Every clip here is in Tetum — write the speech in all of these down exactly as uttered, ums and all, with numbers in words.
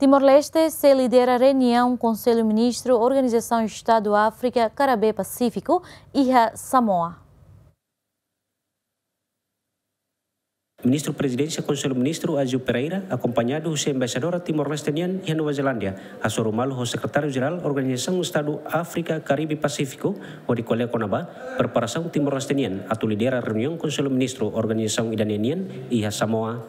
Timor-Leste sei lidera reuniaun Konsellu Ministru Organizasaun Estadu Áfrika Karibe Pasífiku iha Samoa. Ministru Prezidénsia Konsellu Ministru Aziu Pereira, akompañadu husi Embaixadora Timor-Leste nian iha Nova Zelándia, hasoru malu ho Sekretáriu Jerál Organizasaun Estadu Áfrika Karibe Pasífiku, hodi ko'alia kona-ba preparasaun Timor-Leste nian atu lidera reuniaun Konsellu Ministru organizasaun ida-ne'e nian iha Samoa.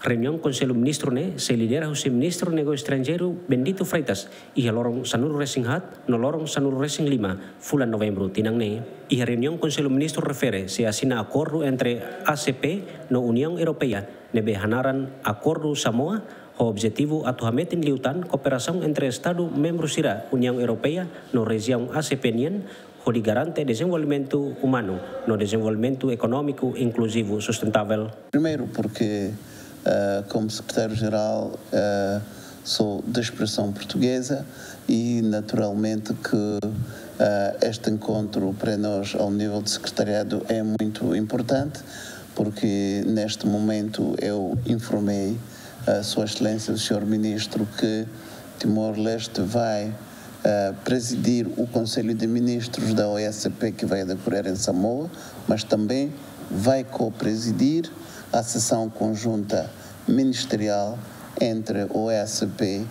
Reuniaun Konsellu Ministru ne'e sei lidera husi Ministru Negósiu Estranjeiru Bendito Freitas, iha loron sanulu-resin-haat no loron sanulu-resin-lima fulan Novembru tinan ne'e. Iha reuniaun Konsellu Ministru refere sei asina akordu entre A C P no Uniaun Europeia, ne'ebé hanaran Akordu Samoa, ho objetivu atu hametin liután kooperasaun entre Estadu membru sira Uniaun Europeia no rejiaun A C P nian, hodi garante dezenvolvimentu umanu no dezenvolvimentu ekonómiku inkluzivu sustentável. Primeiro, porque, ah, como secretário-geral, ah, sou de expressão portuguesa e, naturalmente, que, ah, este encontro para nós, ao nível de secretariado, é muito importante, porque neste momento eu informei a Sua Excelência, o senhor Ministro, que Timor-Leste vai, ah, presidir o Conselho de Ministros da O S C P que vai decorrer em Samoa, mas também vai co-presidir a sessão conjunta ministerial entre o O S C P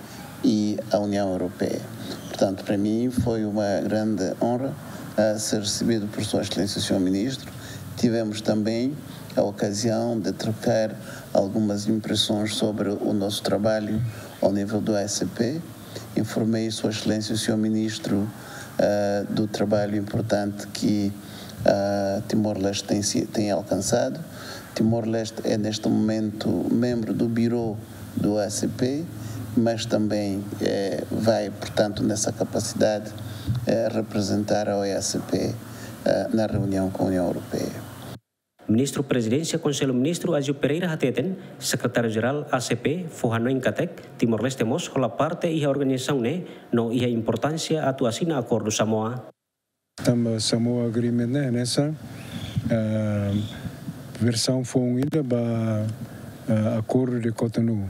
e a União Europeia. Portanto, para mim foi uma grande honra, ah, ser recebido por Sua Excelência, o senhor Ministro. Tivemos também a ocasião de trocar algumas impressões sobre o nosso trabalho ao nível do O S C P. Informei Sua Excelência, o senhor Ministro, ah, do trabalho importante que, ah, Timor-Leste tem si-, tem alcançado. Timor-Leste é, neste momento, membro do Bureau do O S C P, mas também, eh, vai, portanto, nessa capacidade, eh, representar a O S C P, eh, na reunião com a União Europeia. Ministru Prezidénsia Konsellu Ministru Aziu Pereira hateten, Sekretáriu Jerál A C P fó hanoin katak Timor-Leste mós hola parte iha organizasaun ne'e no iha importánsia atu asina Akordu Samoa. Tanba Samoa Agreement ne'e hanesan, ah, versaun foun ida ba, ah, Akordu de Cotonou,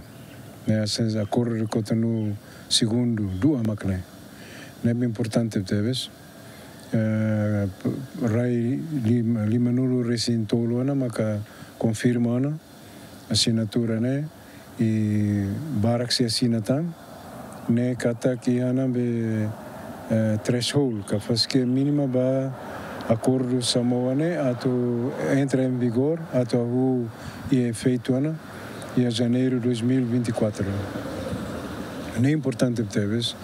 ne'e, hanesan Akordu de Cotonou segundu, dua mak ne'e. Ne'ebé importante tebes. Eh, p-, rai lim-, limanulu-resin-tolu ona maka konfirma ona asinatura ne'e, i barak sei asina tan, ne'e katak iha ona be, eh, threshold, ka fasik mínima ba Akordu Samoa ne'e atu entra em vigor, atu hahú iha efeitu ona iha Janeiru dois mil e vinte e quatro. Ne'e importante tebes.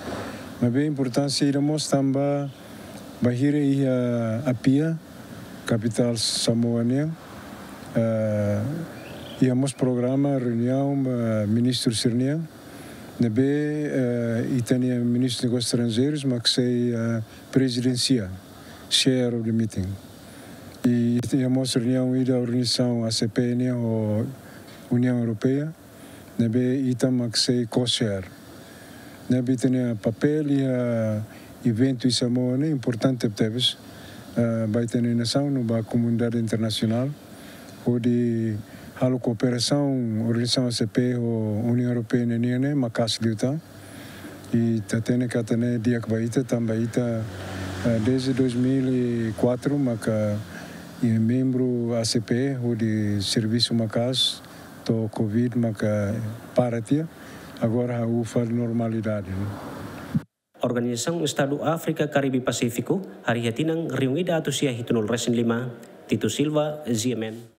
Maibé importánsia ida mós tanba bainhira iha Apia, kapitál Samoa nian, eh, iha mós programa reuniaun, eh, ministru sira-nian, ne'ebé, eh, ita-nia Ministru Negósius Estranjeirus mak sei, eh, prezidensia, chair of the meeting. I iha mós reuniaun ida organizasaun A C P nian ho Uniaun Europeia, ne'ebé ita mak sei co-chair. Ne'ebé ita-nia papél iha eventu iha Samoa ne'e importante tebes, eh, ba ita-nia nasaun no ba komunidade internasionál, hodi halo kooperasaun organizasaun A C P ho Uniaun Europeia nian ne'e maka'as liután. I ita hatene katak ne'e di'ak ba ita, tanba ita, eh, desde dois mil e quatro maka, eh, membru A C P, hodi servisu maka'as, to'o covid maka para tiha, agora hahú fali normalidade, ne'e. Organizasaun Estadu Áfrika Karibe Pasífiku harii iha tinan rihun ida atus sia hitunulu-resin-lima. Tito Silva, G M N.